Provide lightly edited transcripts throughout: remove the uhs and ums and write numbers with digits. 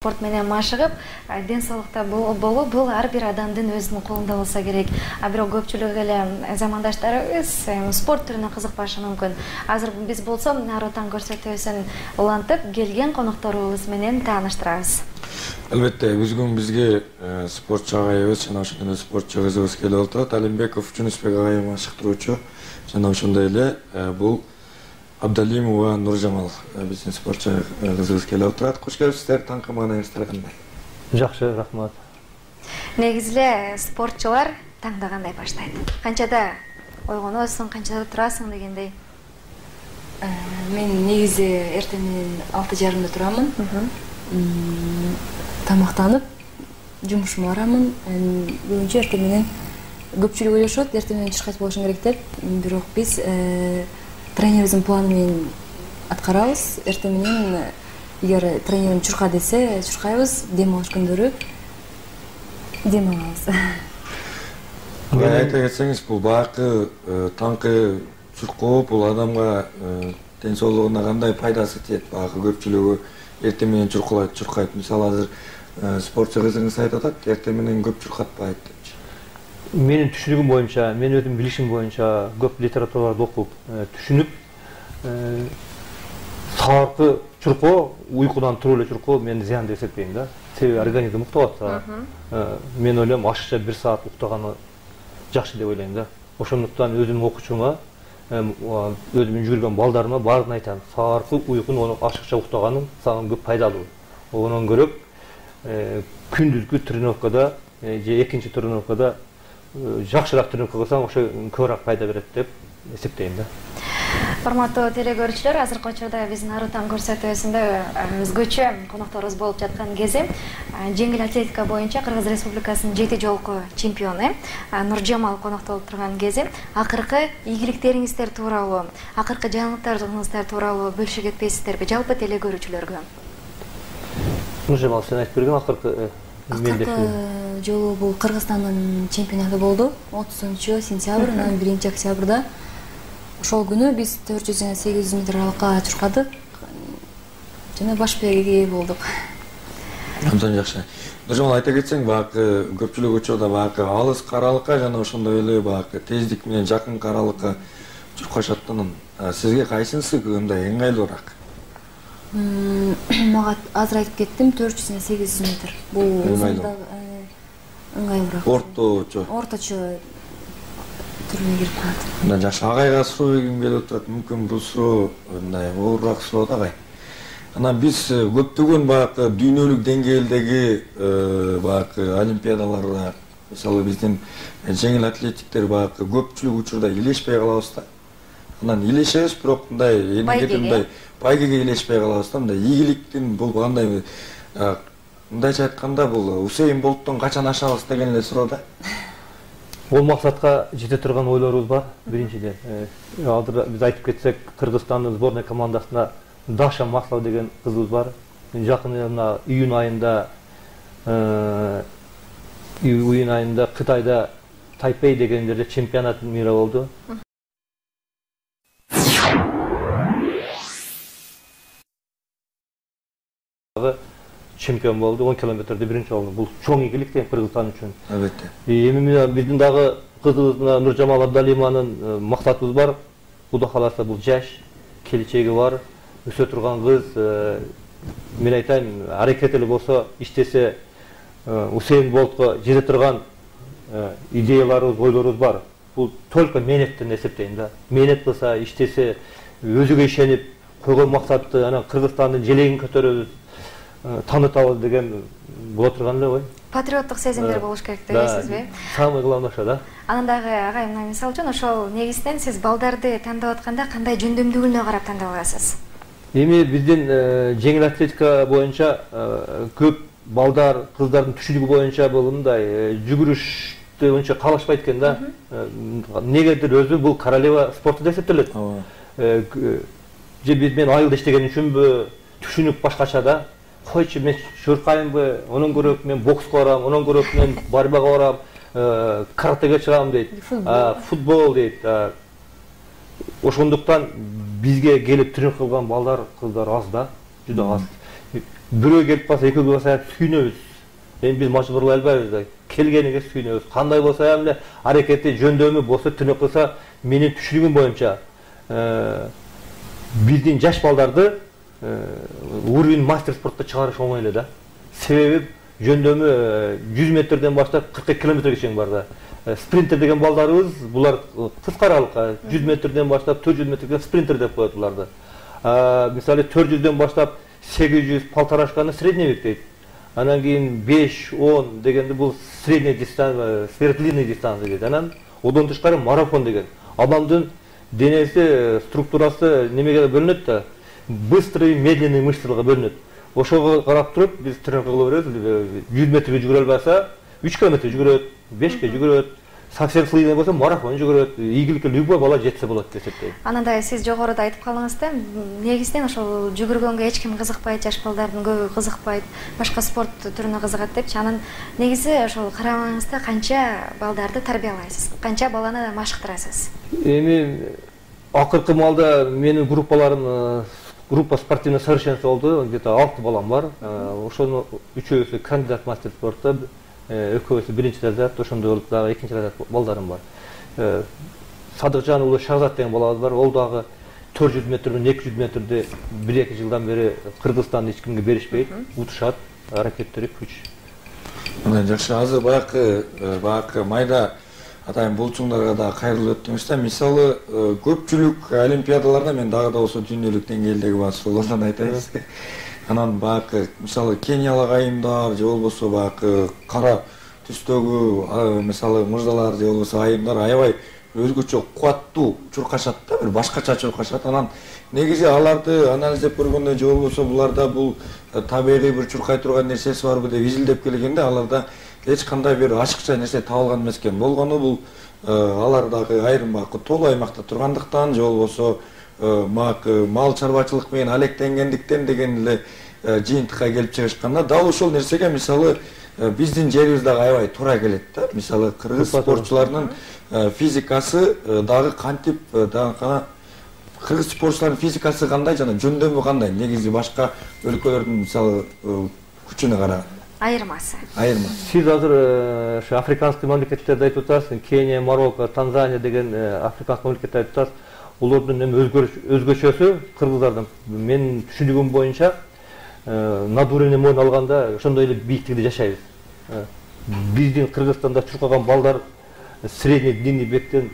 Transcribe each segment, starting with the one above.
Спорт менен машыгып, ден соолукта болуу бул ар бир адамдын өзүнүн колунда болсо керек. Бирок көпчүлүк эле замандаштарыбыз спорт түрүнө кызыкпашы мүмкүн. Азыр биз болсо Ар Отан көрсөтүүсүн улантып келген конокторубуз менен тааныштырабыз. Албетте, бүгүн бизге спортчу агайыбыз жана ошондой эле спортчу кызыбыз келип отурат. Алимбеков Жунусбек агай машыктыруучу жана ошондой эле бул Абдалимова Нуржамал биздин спортчу кызыбыз келип отурат. Кош келипсиздер, таңкы маанайыңыздар кандай? Жакшы, рахмат. Негизи эле спортчулар таңда кандай баштайт? Канчада ойгоносуң, канчада турасың дегендей? Мен негизи эртең 6:30 турамын. Тамактанып, жумушума барамын. Бүгүнчө эртең менен көпчүлүк ойлошот, эртең менен чуркайт болушуң керек деп. Бирок биз тренерибиздин планы менен аткарабыз. Эртең менен эгер тренерим чурка десе, чуркайбыз, дем алыш күндөрү дем алабыз. Айта кетсеңиз, бул баакы таңкы чуркоо бул адамга ден соолугуна кандай пайдасы тиет? Баакы көпчүлүгү эртең менен чуркайт. Мисалы азыр спортчу кызыңыз айтып атат, эртең менен көп чуркатпайт депчи. Менин түшүнүгүм боюнча, мен өзүм билишим боюнча көп литератураларды окуп, түшүнүп, саатты чуркоо, уйкудан туруп эле чуркоо мен зыян деп эсептейм да. Себеби организм уктап атса, мен ойлойм ашыкча 1 саат уктаганы жакшы деп ойлойм да. Ошондуктан өзүмдүн окуучума, өзүмдүн жүргөн балдарыма баарын айтам. Саатты уйкунун ашыкча уктаганың сага көп пайдалуу. Онон көрөп, күндүзгү тренировкада же экинчи тренировкада жакшыраак тренировка кылсаң, ошо көбүрөөк пайда берет деп эсептейм да. Форматтуу телекөрүүчүлөр, азыркы учурда биздин Ар Отан көрсөтүүсүндө өзгөчө конокторубуз болуп жаткан кези жеңил атлетика боюнча Кыргыз Республикасынын 7 жолку чемпиону Нуржамал конокто болуп турган кези акыркы ийгиликтериңиздер тууралуу, акыркы жаңылыктарыңыздар тууралуу бөлүшүп кетпейсиздерби жалпы телекөрүүчүлөргө? Нуржамал, сен айтып берген акыркы жолу бул Кыргызстандын чемпионаты болду. 30 сентябрь, 1 октябрда. Ошол күнү биз 400 жана 800 метр аралыкка чуркадык жана баш бээге болдук. Абдан жакшы. Нуржамал, айта кетсең, баакы көпчүлүк учурда баакы алыс аралыкка жана ошондой эле баакы тездик менен жакын аралыкка чуркашаттын. Сизге кайсынысы мындай ыңгайлуураак? Мага азыр айтып кеттим, 400 жана 800 метр. Бул ыңгайлуураак. Орточо түрүнө кирип калат. Мындан жакшы. Агайга суроо бергим келип отурат. Мүмкүн бул суроо мындай оорураак суроо да агай. Анан биз көптөгөн баакы дүйнөлүк деңгээлдеги баакы олимпиадаларда, мисалы биздин жеңил атлетиктер баакы көпчүлүк учурда илешпей калабыз да. Анан илешебиз, бирок мындай байгеге илешпей калабыз да. Мындай ийгиликтин бул кандай, мындайча айтканда бул Усейн Болттон качан ашабыз деген эле суроо да. Ол максатка жете турган ойлорубуз бар. Биринчиден, азыр биз айтып кетсек, Кыргызстандын сборная командасында Даша Маслова деген кызыбыз бар. Жакын июнь айында Кытайда Тайпей деген жерде чемпионат мира болду. Чемпион болду, 10 километрде биринчи болду. Бул чоң ийгилик дейм Кыргызстан үчүн. Албетте. Эми биздин дагы кызыбыз Нуржамал Абдалимованын максатыбыз бар. Куда кааласа бул жаш, келечеги бар, өсө турган кыз. Мен айтайын, аракет эле болсо, иштесе Усейн Болтко жете турган идеяларыбыз, ойлорубуз бар. Бул только менеттен эсептейм да. Менет кылса, иштесе, өзүгө ишенип, койгон максатты анан Кыргызстандын желегин көтөрөбүз, таанытабыз деген боло турган эле ой. Патриоттук сезимдер болуш керек дебейсизби? Самый главный ошо да. Анан дагы агай, мисалы үчүн ошол негизден сиз балдарды тандап атканда кандай жөндөмдүүлүгүнө карап тандап аласыз? Эми биздин жеңил атлетика боюнча көп балдар, кыздардын түшүнүгү боюнча бул мындай жүгүрүштө боюнча калышпайт экен да. Негедир өзү бул королева спорту деп эсептелет. Же мен айылда иштеген үчүнбү, түшүнүк башкача да. Койчу, мен чуркаймбы, онон көрөк мен бокска барам, онон көрөк мен борьбага барам, каратеге чыгам дейт, футбол дейт. Ошондуктан бизге келип тренировка кылган балдар, кыздар аз да, жүдө аз. бирөө келип калса экөө болса сүйүнөбүз. Эми биз мажбурлай албайбыз да. Келгениге сүйүнөбүз. Кандай болса эле аракети жөндөмү болсо түнөп кылса, менин түшүнүгүм боюнча биздин жаш балдарды уровень мастер спортто чыгарыш оңой эле да. Себеби жөндөмү 100 метрден баштап 40 километрге чейин бар да. Спринтер деген балдарыбыз, булар кыска аралыкка 100 метрден баштап 400 метрге спринтер деп коет буларды. Мисалы 400дөн баштап 800 полторашканы средний век дейт. Анан кийин 5-10 дегенде бул средний дистанция, сверхдлинный дистанция дейт. Анан одан тышкары марафон деген. Адамдын денеси структурасы немеге бөлүнөт да. Быстрый, медленный мышцаларга бөлүнөт. Ошого карап туруп биз тренировка кыла беребиз. 100 метрге жүгүрө албаса 3 километр жүгүрөт, 5ке жүгүрөт. Совсем слыйный болсо марафон жүгүрөт. Ийгиликке любой бала жетсе болот деп эсептейм. Анандай сиз жогоруда айтып калдыңыз да, негизинен ошол жүгүргөнгө эч ким кызыкпайт, жаш балдардын көбү кызыкпайт, башка спорт түрүнө кызыгат депчи. Анан негизи ошол карамаңызда канча балдарды тарбиялайсыз, канча баланы машыктырасыз? Эми акыркы маалда менин группаларым, группа спортивное совершенство болду, где-то 6 балам бар. Ошонун үчөөсү кандидат мастер спорта, экөөсү биринчи разряд, ошондой болуп дагы экинчи разряд балдарым бар. Садыкжан уулу Шахзат деген балабыз бар. Ол дагы 400 метрден 200 метрде 1-2 жылдан бери Кыргызстанды эч кимге беришпейт, утушат, аракеттери күч. Мына жакшы, азыр баягы майда атайын болчуңдарга да кайрылып өттүңүз да. Мисалы, көпчүлүк олимпиадаларда мен дагы да болсо дүйнөлүк деңгээлдеги басуулардан айтайбыз. Анан баягы мисалы Кениялык айымдар же болбосо баягы кара түстөгү мисалы мырзалар же болбосо айымдар аябай өзгөчө кубаттуу чуркашат да, бир башкача чуркашат. Анан негизи аларды анализдеп көргөндө же болбосо буларда бул табигый бир чуркай турган нерсеси барбы деп изилдеп келгенде аларда эч кандай бир ашыкча нерсе табылган эмес экен. Болгону бул алар дагы айрым баягы тоолуу аймакта тургандыктан же болбосо мал чарбачылык менен алектенгендиктен деген эле жыйынтыкка келип чыгышканда, дал ошол нерсеге мисалы биздин жерибиз дагы аябай туура келет да. Мисалы кыргыз спортчуларынын физикасы дагы кантип дагы кыргыз спортчуларынын физикасы кандай жана жөндөмү кандай негизи башка өлкөлөрдүн мисалы күчүнө караганда? Айырмасы. Сиз азыр ошо африканский мамлекеттерди айтып атасыз, Кения, Марокко, Танзания деген африканский мамлекеттерди айтып атасыз. Улардын эми өзгөчөсү кыргыздардын менин түшүнүгүм боюнча надурный мойн алганда ошондой эле бийиктикте жашайбыз. Биздин Кыргызстанда чуркаган балдар средний длинный бектен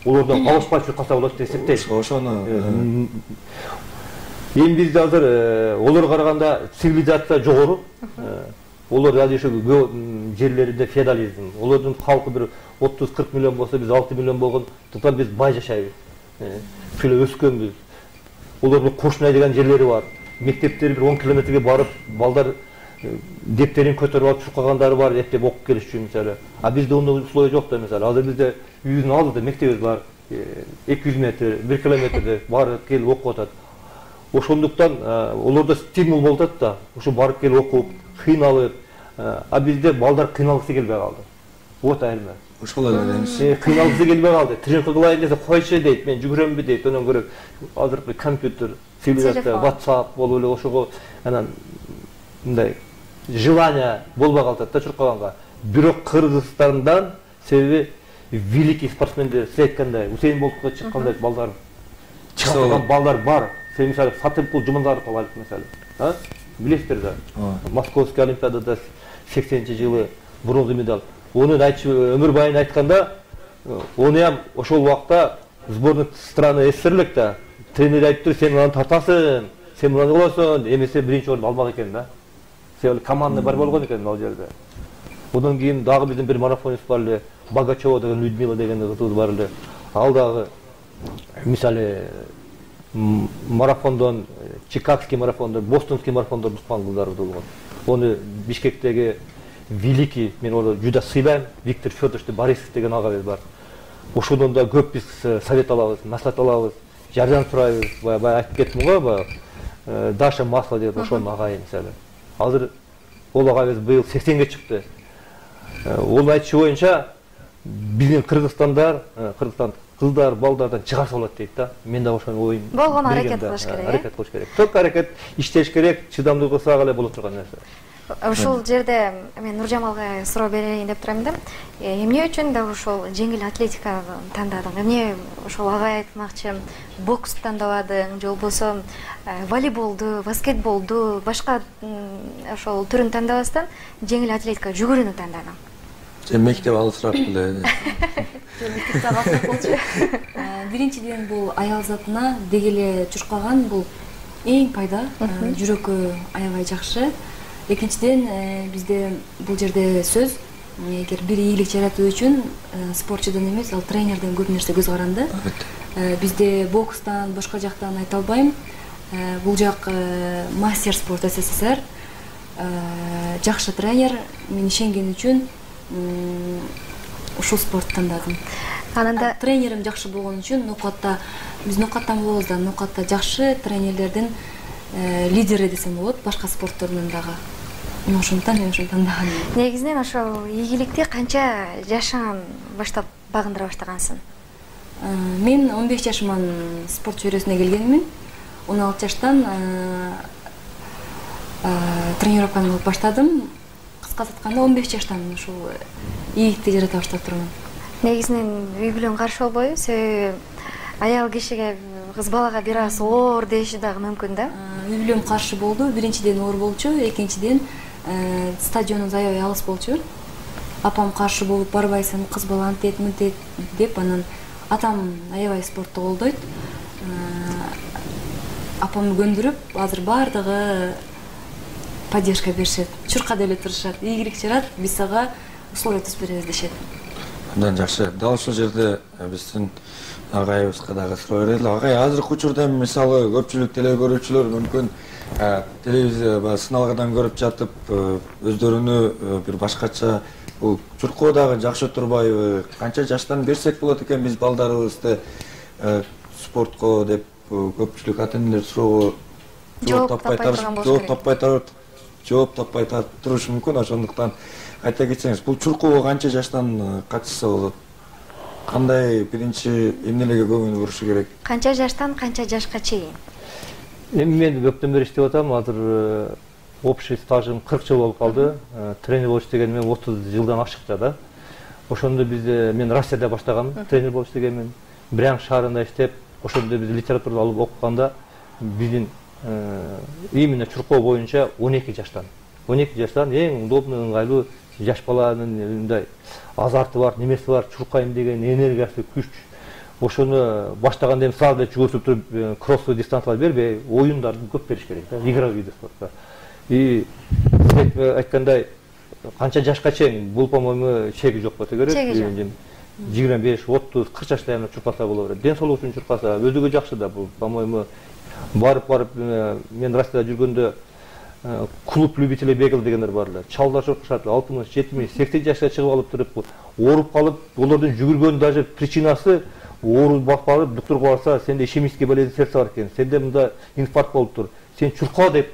улардан алышпай чуркаса болот деп эсептейм. Ошону эми бизде азыр олорго караганда цивилизация жогору. Олар азыр ошо жерлеринде феодализм. Олардын халкы бир 30-40 миллион болсо, биз 6 миллион болгондуктан биз бай жашайбыз. Шөлө өскөнбүз. Олардын Кошнай деген жерлери бар. Мектептери бир 10 километрге барып, балдар дептерин көтөрүп алып чуркагандары бар, эптеп окуп келиш үчүн мисалы. А бизде ондой условия жок да мисалы. Азыр бизде үйдүн алдында мектебибиз бар. 200 метр, 1 километрде барып келип окуп атат. Ошондуктан олордо стимул болуп атат да. Ошо барып келип окуп, кыйналып. А бизде балдар кыйналгысы келбей калды. Вот айырма. Ошол эле деймиз. Кыйналгысы келбей калды. Тренировка кылайын десе койчу дейт, мен жүгүрөмбү дейт. Онон көрө азыр компьютер, цивилизация, WhatsApp болуп эле ошого анан мындай желание болбой калат да чуркаганга. Бирок Кыргызстандан себеби великий спортсмендер сиз айткандай Усейн Болтко чыккандай балдар чыккан балдар бар. Сен мисалы Сатымкул Жумандаров алып мисалы. Билесиздер да. Московский олимпиадада 80-жылы бронза медаль. Онун өмүрбайын айтканда, онуям ошол убакта сборная страны СССР да. Тренер айтты, сен мынаны тартасың, сен мынаны кыласың, эмесе биринчи орун алмак экен да. Себеби командный борьба болгон экен ал жерде. Одан кийин дагы биздин бир марафонист бар эле, Богачева деген Людмила деген кыз бар эле. Ал дагы мисалы марафондон, Чикагский марафондон, Бостонский марафондон уккан кыздар болгон. Ону Бишкектеги великий, мен onu juda сыйлайм, Виктор Федорович Борисов деген агабыз бар. Ошодон да көп биз совет алабыз, маслихат алабыз, жардам сурайбыз. Баягы айтып кеттим го, баягы Даша Масло деп ошонун агайы мисалы. Азыр ол агабыз быйыл 80ге чыкты. Ол айтышы боюнча биздин кыргызстан кыздар балдардан чыгарса болот дейт да. Мен да ошону оюм. Болгону аракет кылыш керек. Аракет кылыш керек. Только аракет иштеш керек, чыдамдуу кылсак эле боло турган нерсе. Ушул жерде мен Нуржамалга суроо берейин деп турам да. Эмне үчүн да ушул жеңил атлетиканы тандадың? Эмне ошол ага айтмакчы бокс тандабадың, же болбосо волейболду, баскетболду, башка ошол түрүн тандабастан жеңил атлетика жүгүрүүнү тандадың? Сен мектеп алысыраак эле. Биринчиден бул аял затына деги эле чуркаган бул эң пайда, жүрөккө аябай жакшы. Экинчиден бизде бул жерде сөз, эгер бир ийгилик жаратуу үчүн спортчудан эмес, ал тренерден көп нерсе көз каранды. Бизде бокстан, башка жактан айта албайм. Бул жак мастер спорт СССР. Жакшы тренер, мен ишенген үчүн ушул спортты тандадым. Ананда тренерим жакшы болгон үчүн ноокатта биз ноокаттан болобуз да, ноокатта жакшы тренерлердин лидери десем болот, башка спорттордон дагы. Ошондуктан мен ошону тандаган. Негизинен ошол ийгиликти канча жашан баштап багындыра баштагансың? Мен 15 жашыман спорт чөйрөсүнө келгенмин. 16 жаштан тренировканы кылып баштадым. Кыскасы айтканда 15 жаштан ушул ийгиликти жарата баштап турмун. Негизинен үй бүлөң каршы болбойбу? Себеби аял кишиге, кыз балага бир аз оор деши дагы мүмкүн да? Үй бүлөм каршы болду. Биринчиден оор болчу, экинчиден стадионубуз аябай алыс болчу. Апам каршы болуп, барбайсың, кыз бала антет, мынтет деп, анан атам аябай спортты колдойт. Апамды көндүрүп, азыр баардыгы поддержка беришет. Чурка деле турушат. Ийгилик жарат, биз сага условия түзүп беребиз дешет. Андан жакшы. Дал ушул жерде биздин агайыбызга дагы суроо берели. Агай, азыркы учурда мисалы көпчүлүк теле көрүүчүлөр мүмкүн телевизия сыналгадан көрүп жатып, өздөрүнү бир башкача бул чуркоо дагы жакшы турбайбы? Канча жаштан берсек болот экен биз балдарыбызды спортко деп көпчүлүк ата-энелер суроого жооп таппай турушу мүмкүн. Ошондуктан айта кетсеңиз, бул чуркоого канча жаштан катышса болот? Кандай биринчи эмнелерге көңүл бурушу керек? Канча жаштан канча жашка чейин? Эми мен көптөн бери иштеп атам. Азыр общий стажым 40 жыл болуп калды. Тренер болуп иштегениме 30 жылдан ашыкча да. Ошондо мен Россияда баштагам, тренер болуп иштегенмин. Брянск шаарында иштеп, ошондо биз литературу алып окуганда биздин именно чуркоо боюнча 12 жаштан. 12 жаштан эң удобный, ыңгайлуу жаш баланын мындай азарты бар, немеси бар, чуркайм деген энергиясы, күч. Ошону баштаганда эми сразу жүгүрүп туруп кроссовый дистанциялар бербей, оюндарды көп бериш керек да, игровой виды спорта. И айткандай, канча жашка чейин бул, по-моему, чеги жок болсо керек. 25, 30, 40 жашта эми чуркаса боло берет. Ден соолук үчүн чуркаса өзүгө жакшы да бул, по-моему. Барып мен Россияда жүргөндө клуб любителей бегал дегендер бар эле. Чалдар чуркашат, 60, 70, 80 жашка чыгып алып туруп, ооруп калып, олордун жүгүргөн даже причинасы ооруп калып, доктурга барса, сенде ишемический болезнь сердца бар экен, сенде мында инфаркт болуп тур, сен чурка деп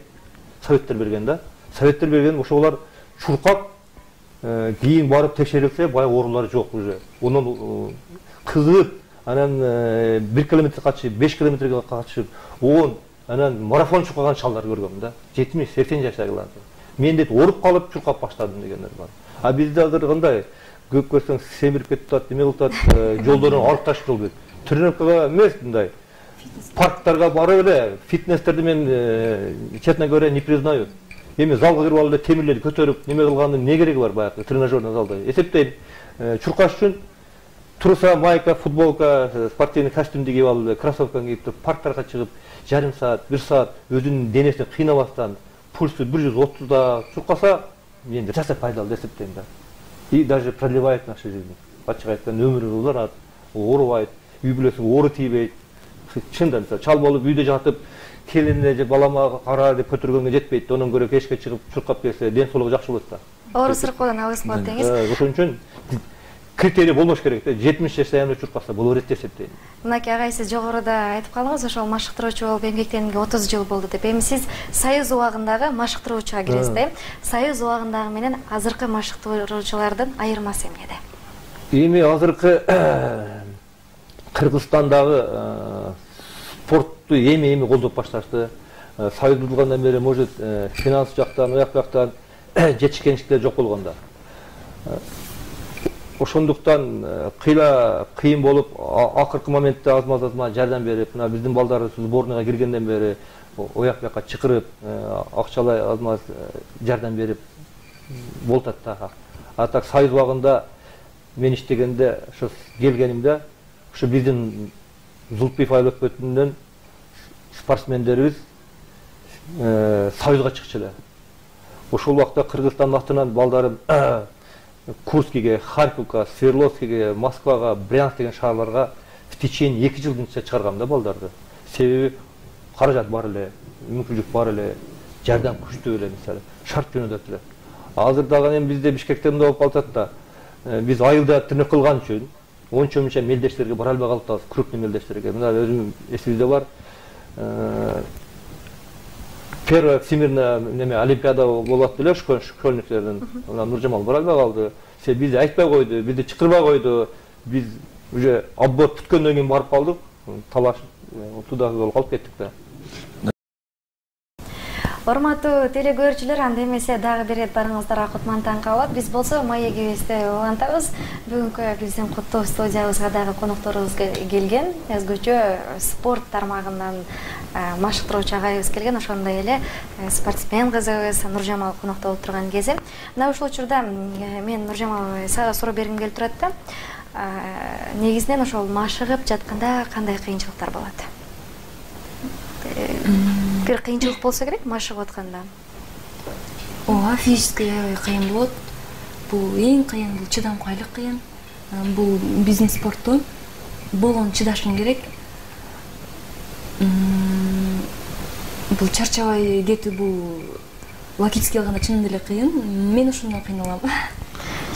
советтер берген да. Советтер берген, ошолар чуркап, кийин барып текшерилсе, баягы оорулары жок уже. Онун кызып, анан 1 километр качып, 5 километрге качып, 10, анан марафон чуркаган чалдар көргөм да. 70-80 жаштагылар. Мен деп ооруп калып чуркап баштадым дегендер бар. А бизде азыр кандай? Көп көрсөң семирип кетип атат, неме кылып атат, жолдорун алып ташып жол. Тренировкага эмес мындай. Парктарга барып эле, фитнестерди мен, честно говоря, не признаю. Эми залга кирип алып эле темирлерди көтөрүп, неме кылгандын эмне кереги бар баягы тренажерный залда? Эсептейм, чуркаш үчүн туруса майка, футболка, спортивный костюмду кийип алып, кроссовканы кийип туруп, парктарга чыгып, жарым саат, 1 саат өзүнүн денесин кыйнабастан, пульсу 130да чуркаса, мен жаса пайдалуу деп эсептейм да. И даже продлевает нашу жизнь. Ачык айтканда өмүрү узарат, оорубайт, үй бүлөсүнө оору тийбейт. Чындап мисалы чал болуп үйдө жатып, келине же балама кара деп көтөргөнгө жетпейт. Онун көрө кечке чыгып чуркап келсе, ден соолугу жакшы болот да. Оору сыркоодон алыс болот деңиз. Ошон үчүн критерий болмош керек да. 70 жашта эмне чуркаса боло берет деп эсептейм. Мынакей агай, сиз жогоруда айтып калдыңыз, ошол машыктыруучу болуп эмгектенгенге 30 жыл болду деп. Эми сиз Союз убагындагы машыктыруучуга киресиз да. Союз убагындагы менен азыркы машыктыруучулардын айырмасы эмнеде? эми азыркы Кыргызстандагы спортту эми колдоп башташты. Союз курулгандан бери, может, финанс жактан, аяк жактан жетишкенчиликтер жок болгондо. Ошондуктан кыйын болуп, акыркы моментте азма жардам берип, мына биздин балдар сборныйга киргенден бери ояк бияка чакырып, акчалай азма жардам берип болуп атат. А так Союз убагында мен иштегенде, ошо келгенимде, ошо биздин Зулпиев айыл өкмөтүнөн спортсмендерибиз Союзга чыкчу эле. Ошол убакта Кыргызстан атынан балдарым Курскиге, Харьковго, Свердловскиге, Москвага, Брянск деген шаарларга в течение 2 жылдын ичинде чыгаргам да балдарды. Себеби каражат бар эле, мүмкүнчүлүк бар эле, жардам күчтүү эле, мисалы, шарт жөнөтөт эле. Азыр дагы эми бизде Бишкекте мындай болуп калат да, биз айылда тирнек кылган үчүн ончо-мынча мелдештерге бара албай калып, крупный мелдештерге. Мына өзүм эсибизде бар. Первая всемирная олимпиада болот эле школьниктердин. Мына Нуржамал бара албай калды. Себеби бизди айтпай койду, бизди чакырбай койду. Биз уже отбор бүткөндөн кийин барып калдык. Талаш туда болуп калып кеттик да. Урматтуу телекөрүүчүлөр, анда эмесе дагы бир рет барыңыздарга кутмандан калып, биз болсо маегибизди улантабыз. Бүгүнкү биздин куттуу студиябызга дагы конокторубуз келген. Өзгөчө спорт тармагынан машыктыруучу агайыбыз келген, ошондой эле спортсмен кызыбыз Нуржамал конокто болуп турган кези. Мына ушул учурда мен Нуржамал сага суроо бергим келип турат да. Негизинен ошол машыгып жатканда кандай кыйынчылыктар болот? Бир кыйынчылык болсо керек машыгып атканда. Ооба, физически кыйын болот. Бул эң кыйын, бул чыдамкайлык кыйын. Бул биздин спорттун болгон чыдашың керек. Бул чарчабай кетүү, бул логически алганда чынында эле кыйын. Мен ошондон кыйналам.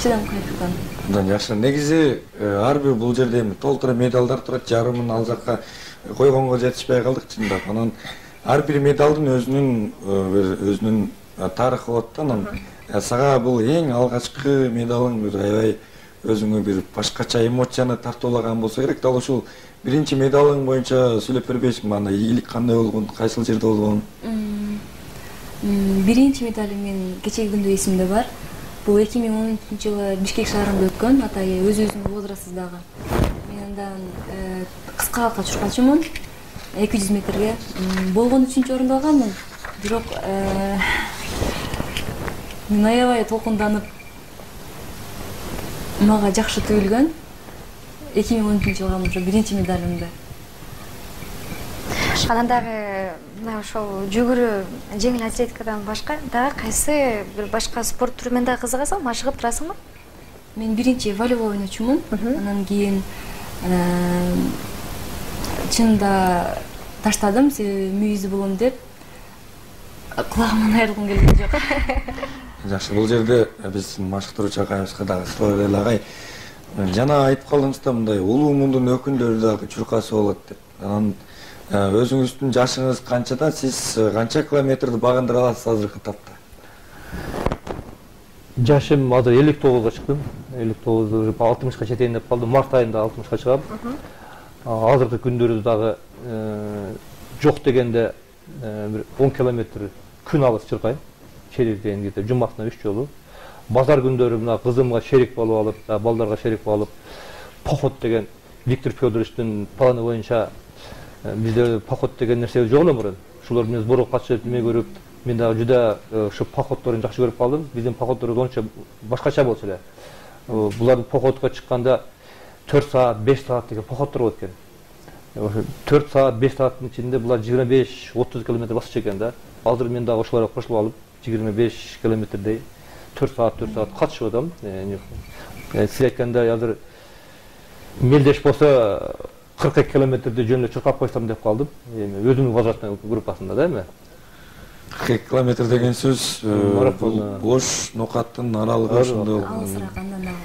Чыдамкайлыктан. Андан жакшы. Негизи ар бир бул жерде эми толтура медалдар турат, жарымын ал жакка койгонго жетишпей калдык чындап. Анан ар бир медалдын өзүнүн тарыхы болот да. Анан сага бул эң алгачкы медалың, бир аябай өзүңө бир башкача эмоцияны тартуулаган болсо керек. Дал ушул биринчи медалың боюнча сүйлөп бербейсиңби? Анда ийгилик кандай болгон, кайсыл жерде болгон? Биринчи медалым мен кечеги күндө эсимде бар. Бул 2013-жылы Бишкек шаарында өткөн, атай өзүбүздүн возрастыбыздагы. Мен андан кыска калка чуркачумун. 200 метрге болгон 3-чү орунду алганмын. Бирок мен аябай толкунданып, мага жакшы түйүлгөн. 2013-жылы алгам ошо биринчи медалымды. Анан дагы мына ошол жүгүрүү, жеңил атлетикадан башка дагы кайсы бир башка спорт түрүнөн дагы кызыгасың, машыгып турасыңбы? Мен биринчи волейбол ойночумун. Анан кийин чынында таштадым, себеби мүйүзү болом деп. Кулагымдан айрылгым келген жок. Жакшы, бул жерде биз машыктыруучу агайыбызга дагы суроо берели. Агай, жана айтып калдыңыз да, мындай улуу мундун өкүлдөрү дагы чуркасы болот деп. Анан өзүңүздүн жашыңыз канчада, сиз канча километрди багындыра аласыз азыркы тапта? Жашым азыр 59-га чыктым. 59 60-ка жетейин деп калдым. Март айында 60-ка чыгам. Азыркы күндөрү дагы жок дегенде бир 10 километр күн алыс чуркайм. Шерифтен кетип, жумасына 3 жолу. Базар күндөрү мына кызымга шерик болуп алып, балдарга шерик болуп алып, поход деген Виктор Федоровичтин планы боюнча бизде поход деген нерсе жок эле мурун. Ушулар менен сборго катышып, эме көрүп, мен дагы жуда ушу походдорун жакшы көрүп калдым. Биздин походдорубуз онча башкача болчу эле. Булардын походко чыкканда 4 саат, 5 саат деген походдор болот экен. Ошо 4 саат, 5 сааттын ичинде булар 25-30 километр басчу экен да. Азыр мен дагы ошолорго кошулуп алып, 25 километрдей 4 саат катышып атам. Сиз айткандай азыр мелдеш болсо 42 километрди жөн эле чуркап койсом деп калдым. Эми өзүмдүн возрастный группасында да эми. 42 километр деген сөз бош нокаттын аралыгы ошондой.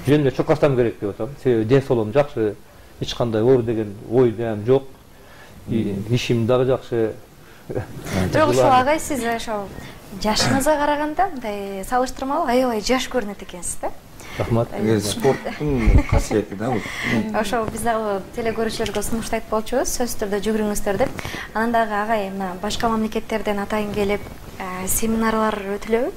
Жөн эле чуркасам керек деп атам. Себеби ден соолугум жакшы, эч кандай оор деген ой дем жок. Ишим дагы жакшы. Бирок ушул агай сиз ошол жашыңызга караганда мындай салыштырмалуу аябай жаш көрүнөт экенсиз да. Рахмат. Спорттун касиети да бул. Ошо биз дагы телекөрүүчүлөргө сунуштайт болчубуз, сөзсүз түрдө жүгүрүңүздөр деп. Анан дагы агай мына башка мамлекеттерден атайын келип семинарлар өтүлөбү?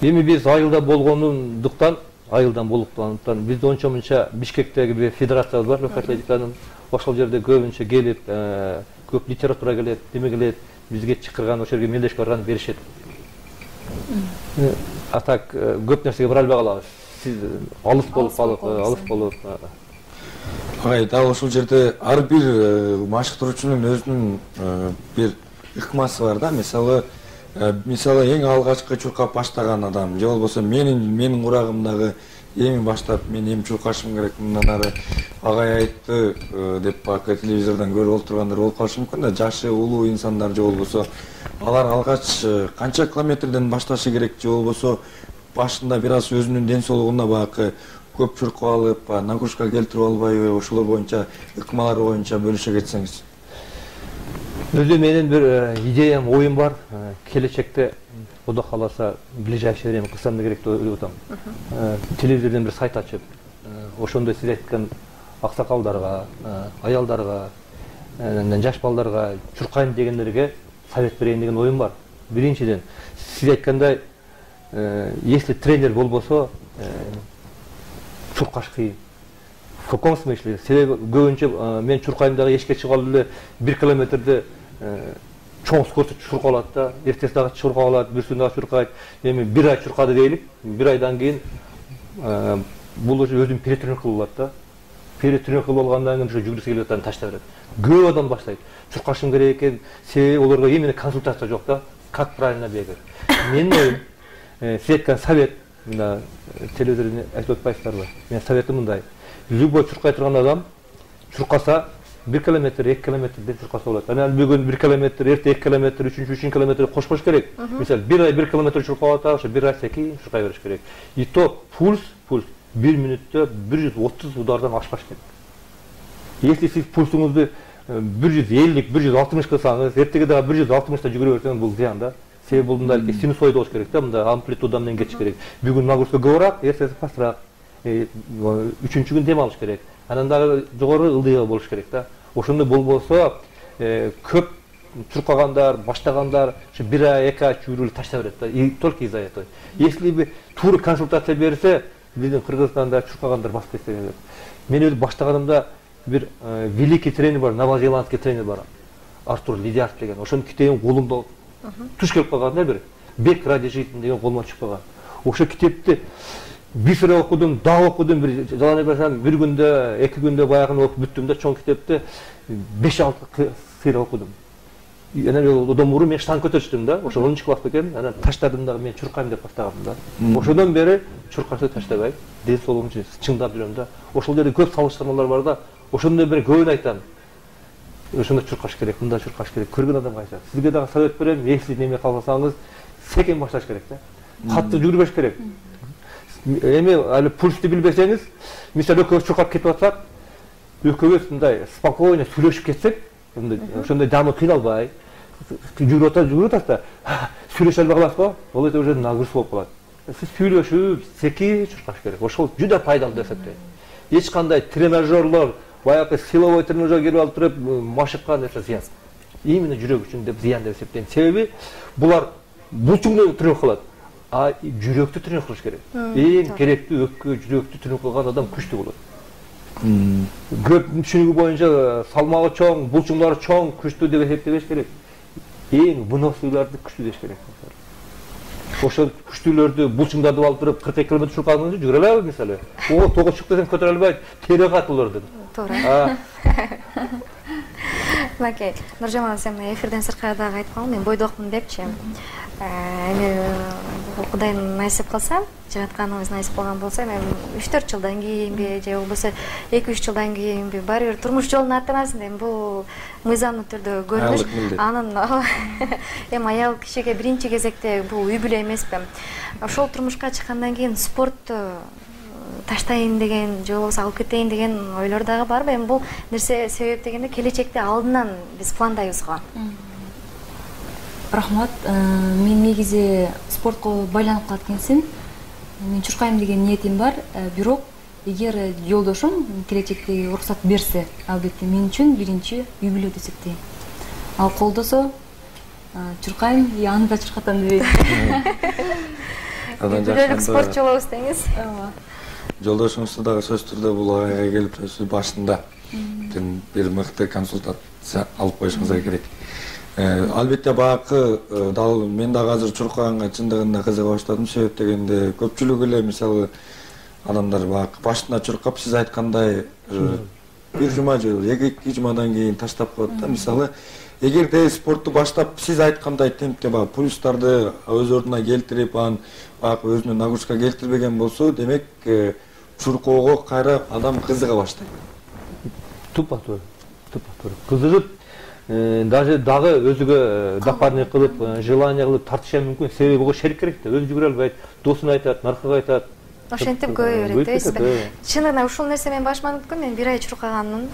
Эми биз айылда болгондуктан бизде ончо мынча Бишкектеги бир федерациябыз бар, легкий атлетиканын. Ошол жерде көбүнчө келип, көп литература келет, неме келет, бизге чакырган, ошол жерге мелдешип барган беришет. А так көп нерсеге бара албай калабыз. Сиз алыс болуп. Агай, дал ошол жерде ар бир машыктыруучунун өзүнүн бир ыкмасы бар да. Мисалы эң алгачкы чуркап баштаган адам, же болбосо менин курагымдагы эми баштап мен эми чуркашым керек, мындан ары агай айтты деп бак телевизордон көрүп отургандар болуп калышы мүмкүн да. Жашы улуу инсандар же болбосо алар алгач канча километрден башташы керек, же болбосо башында бир аз өзүнүн ден соолугуна бакы көп чуркап алып, нагрузка келтирип албайбы, ошолор боюнча ыкмалар боюнча бөлүшө кетсеңиз. Өзү менин бир идеям, оюм бар. Келечекте Кудай кааласа ближайший время кылсам да керек деп ойлоп атам. Телевизордон бир сайт ачып, ошондой сиз айткан аксакалдарга, аялдарга, жаш балдарга чуркайм дегендерге совет берейин деген оюм бар. Биринчиден, сиз айткандай, если тренер болбосо, чуркаш кыйын. В каком смысле? Себеби көбүнчө мен чуркайм дагы эшикке чыгып алып эле 1 километрде чоң скорость чуркап алат да, эртеси дагы чуркап алат, бүрсүн дагы чуркайт. Эми 1 ай чуркады дейли, 1 айдан кийин бул уже өзүн перетренировка кылып алат да. Перетренировка кылып алгандан кийин ошо жүгүрүшкө келип атканын таштап берет. Көп адам баштайт. Чуркашым керек экен, себеби олорго именно консультация жок да. Как правильно бегать? Менин оюм, сиз айткан совет, мына телевизордон айтып атпайсыздарбы? Менин советим мындай. Любой чуркай турган адам чуркаса 1 километр, 2 километрден чуркаса болот. Анан бүгүн 1 километр, эрте 2 километр, 3 километр кошпош керек. Мисалы 1 ай 1 километр чуркап атат, ошо 1 ай секин чуркай бериш керек. И то пульс 1 мүнөттө 130 удардан ашпаш керек. Если сиз пульсуңузду 150, 160 кылсаңыз, эртеге дагы 160 жүгүрө берсеңиз бул зыян да. Себеби бул мындай синусоида болуш керек да, мындай амплитуда менен кетиш керек. Бүгүн нагрузка көбүрөөк, эртеси пастрак. Үчүнчү күн дем алыш керек. Анан дагы жогору ылдыйга болуш керек да. Ошондой болбосо көп чуркагандар, баштагандар ошо 1 ай, 2 ай жүгүрүп таштап берет да. И только из-за этого. Если бы туура консультация берсе, биздин Кыргызстанда чуркагандар басып кетсе керек. Мен өзү баштаганымда бир великий тренер бар, новозеландский тренер бар. Артур Лидиаров деген. Ошонун китебин колумда туш келип калган да, бир бег ради жизни деген колуман чыгып калган. Ошо китепти бир окудум, дагы окудум, бир жаланы берсем, бир күндө, 2 күндө баягын окуп бүттүм да, чоң китепти 5-6 сыйра окудум. Анан одан мурун мен штанг көтөрчүмүн да, ошо 10-чы класста экенмин, анан таштадым дагы, мен чуркайм деп баштагам да. Ошодон бери чуркашты таштабай, ден соолугум үчүн чыңдап жүрөм да. Ошол жерде көп салыштырмалар бар да. Ошондон бери көбүн айтам. Ошондо чуркаш керек, мында чуркаш керек. Көргөн адам кайсы. Сизге дагы совет берем, если неме калсаңыз, секен башташ керек да. Катты жүрбөш керек. Эми али пульсты билбесеңиз, мисалы экөөбүз чуркап кетип атсак, экөөбүз мындай спокойно сүйлөшүп кетсек, ошондой жамы кыйналбай, жүрүп атат да, сүйлөшө албай каласызбы? Ол эте уже нагрузка болуп калат. Сиз сүйлөшүп, секин чуркаш керек. Ошол жүдө пайдалуу деп эсептейм. Эч кандай тренажерлор, баягы силовой тренажер келип алып туруп, машыкка нерсе зыян. Именно жүрөк үчүн деп зыян деп эсептейм. Себеби булар булчуңду тренировка кылат. А жүрөктү тренировка кылыш керек. Эң керектүү өпкө, жүрөктү тренировка кылган адам күчтүү болот. Көп түшүнүгү боюнча салмагы чоң, булчуңдары чоң, күчтүү деп эсептебеш керек. Эң выносливларды күчтүү деш керек. Ошол күчтүүлөрдү, булчуңдарды алып туруп 42 километр чуркагыңызды жүгүрө алабыз мисалы. О, тоо чык десең көтөрө албайт, тере катылырды. Туура. Макей, Нуржамал, сен эфирден сырткары дагы айткан, мен бойдокмун депчи. Эми Кудайым насип кылса, жаратканыбыз насип болгон болсо, эми 3-4 жылдан кийинби же болбосо 2-3 жылдан кийинби баары бир турмуш жолун аттанасың, эми бул мыйзамдуу түрдө көрүнүш. Анын эми аял кишиге биринчи кезекте бул үй бүлө эмеспи. Ошол турмушка чыккандан кийин спортту таштайын деген, же болбосо алып кетейин деген ойлор дагы барбы? Эми бул нерсе себеп дегенде келечекте алдынан биз пландайбыз го. Рахмат. Мен негизи спортко байланып калат экенсин. мен чуркайм деген ниетим бар, бирок эгер жолдошум келечекте уруксат берсе, албетте мен үчүн биринчи үй бүлө деп эсептейм. Ал колдосо чуркайм, аны да чуркатам дебейм. Үй бүлөлүк спортчу болобуз деңиз. Жолдошуңузду дагы сөзсүз түрдө бул агайга келип сөзсүз башында бир мыкты консультация алып коюшуңузга керек. Албетте багы дал мен дагы азыр чуркаганга чындыгында кызыга баштадым. Себеп дегенде көпчүлүк эле мисалы адамдар багы башына чуркап сиз айткандай бир жума же 2 жумадан кийин таштап коет да. Мисалы эгерде спортту баштап сиз айткандай темпте багы пульстарды өз ордуна келтирип, анан багы өзүнө нагрузка келтирбеген болсо, демек чуркоого кайра адам кызыга баштайт. Тупо-туура. Кызыгып, даже дагы өзүгө допарный кылып, желание кылып тартышы мүмкүн. Себеби буга шерик керек да. Өзү жүгүрө албайт, досуна айтат, наркага айтат. Ошентип көбөйө берет дейсизби? Чынында ушул нерсе мен башыма өткөн. Мен 1 ай чуркаганмын.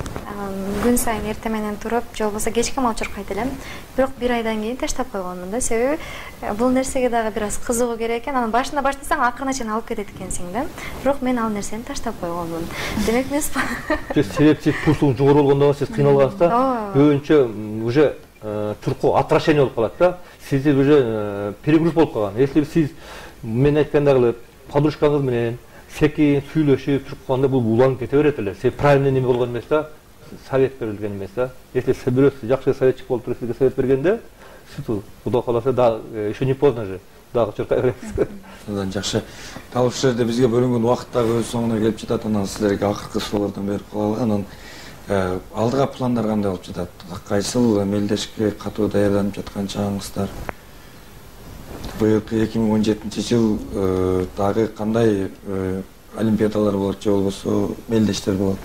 Күн сайын эртең менен туруп, же болбосо кечке мал чуркайт элем. Бирок 1 айдан кийин таштап койгонмун да. Себеби бул нерсеге дагы бир аз кызыгуу керек экен. Анан башында баштасаң акырына чейин алып кетет экенсиң да. Бирок мен ал нерсени таштап койгонмун. Демек мен себепчи пульсуң жогору болгондо сиз кыйналгансыз да. Көбүнчө уже чуркоо отвращение болуп калат да. Сизде уже перегруз болуп калган. Если сиз мен айткандагы подружкаңыз менен секин сүйлөшүп чуркаганда бул уланып кете берет эле. Сиз правильный неме болгон эмес да, совет берилген эмес да. Если бирөө жакшы советчик болуп туруп сизге совет бергенде, сиз Кудай кааласа да еще не поздно же. Дагы чуркай бересиз. Андан жакшы. Дал ушул жерде бизге бөлүнгөн убакыт дагы өз соңуна келип жатат. Анан силерге акыркы суроолордон берип калалы. Анан алдыга пландар кандай болуп жатат? Кайсыл мелдешке катуу даярданып жаткан чагыңыздар? Быйылкы 2017-жыл дагы кандай олимпиадалар болот же болбосо мелдештер болот?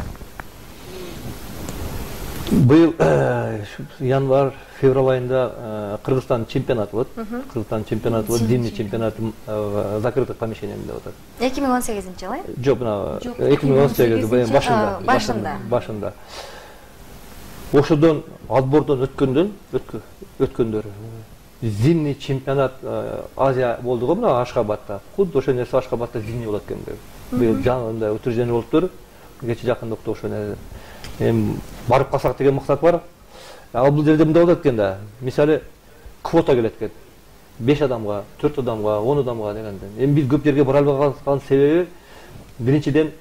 Быйыл январь, февраль айында Кыргызстан чемпионаты болот. Кыргызстан чемпионаты болот, зимний чемпионат в закрытых помещениях деп атат. 2018-жылы? Жок, мына 2018 башында. Ошодон отбордон өткөндөр зимний чемпионат Азия болду го мына Ашхабадта. Худду ошол нерсе Ашхабадта зимний болот экен. Быйыл жаңында утверждение болуптур. Кече жакында ошо нерсе. Барып калсак деген максат бар. Ал бул жерде мындай болот экен да. Мисалы квота келет экен. 5 адамга, 4 адамга, 10 адамга дегенде. Эми биз көп жерге бара албаган себеби биринчиден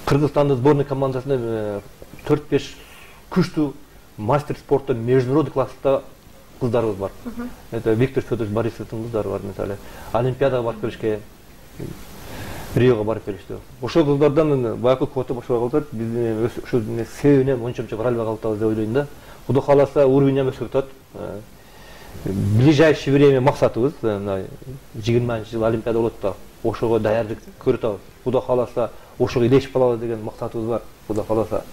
Кыргызстандын сборный командасында 4-5 күчтүү мастер спорта международный класста кыздарыбыз бар. Это Виктор Федорович Борисовдун кыздары бар, мисалы. Олимпиадага барып келишкен, Риого барып келишти. Ошол кыздардан баягы квота бошобой калат. Биз ушул себебинен ончомчо бара албай калдыбыз деп ойлойм да. Кудай кааласа уровень өсүп атат. В ближайшее время максатыбыз 20-жыл Олимпиада болот да. Ошого даярдык көрүп атабыз. Кудай кааласа ошого илешип калалы деген максатыбыз бар. Кудай кааласа.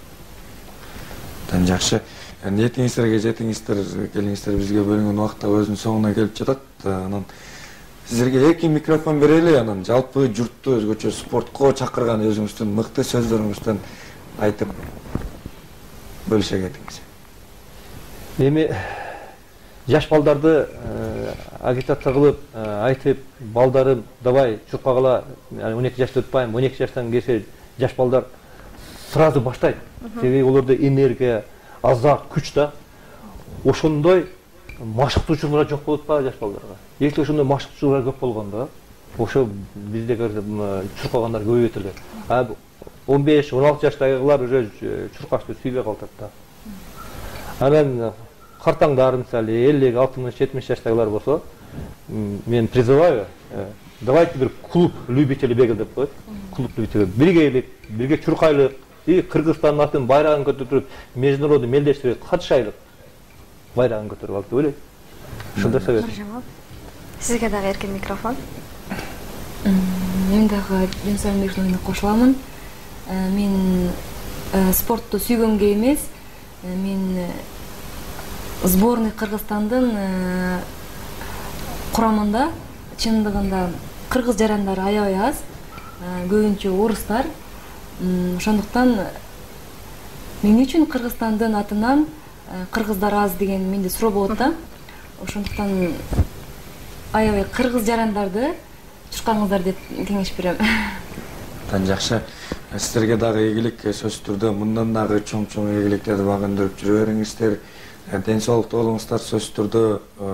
Жакшы. Ниетиңиздерге жетиңиздер, келиңиздер, бизге бөлүнгөн убакыт өзүнүн соңуна келип жатат. Анан сиздерге эркин микрофон берели, анан жалпы журтту өзгөчө спортко чакырган өзүңүздүн мыкты сөздөрүңүздөн айтып бөлүшө кетиңиз. Эми жаш балдарды агитация кылып айтып, балдарым давай чуркагыла, 12 жашты өтпайм, 12 жаштан кийин жаш балдар сразу баштайт. Себеби олордо энергия, азак, күч да. Ошондой машыктуучулар жок болуп атпайбы жаш балдарга? Если ошондой машыктуучулар көп болгондо, ошо бизде чуркагандар көбөйөт эле. 15-16 жаштагылар уже чуркашты сүйбөй калат да. Анан картаңдар, мисалы 50, 60, 70 жаштагылар болсо, мен призываю, давайте бир клуб любителей бега деп коет. Клуб любителей бирге чуркайлык, и Кыргызстандын атын байрагын көтөрүп, международный мелдештикке катышайлык. Байрагын көтөрүп алып деп ойлойм. Ушундай совет. Сизге дагы эркин микрофон. Мен дагы Жансарбековдун кошуламын. Мен спортту сүйгөнгө эмес, мен сборный Кыргызстандын курамында чындыгында кыргыз жарандары аябай аз, көбүнчө орустар. Ошондуктан мен үчүн Кыргызстандын атынан кыргыздар аз деген менде суроо болот да. Ошондуктан аябай кыргыз жарандарды тушканыңыздар деп кеңеш берем. Абдан жакшы. Сиздерге дагы ийгилик, сөзсүз түрдө мындан дагы чоң ийгиликтерди багындырып жүрө бериңиздер. Ден соолуктуу болуңуздар. Сөзсүз түрдө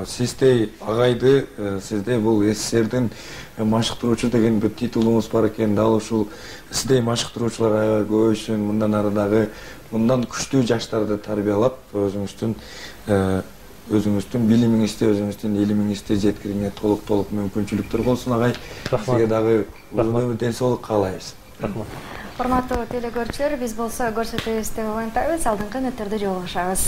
сиздей агайды, сиздей бул СССРдин машыктыруучу деген бир титулуңуз бар экен. Дал ушул сиздей машыктыруучулар аябай көбөйсүн. Мындан ары дагы мындан күчтүү жаштарды тарбиялап, өзүңүздүн билимиңизди, өзүңүздүн илимиңизди жеткирүүгө толук мүмкүнчүлүктөр болсун агай. Сизге дагы узун өмүр, ден соолук каалайбыз. Рахмат. Урматтуу телекөрүүчүлөр, биз болсо көрсөтүүбүздү улантабыз, алдыңкы мүнөттөрдө жолугушабыз.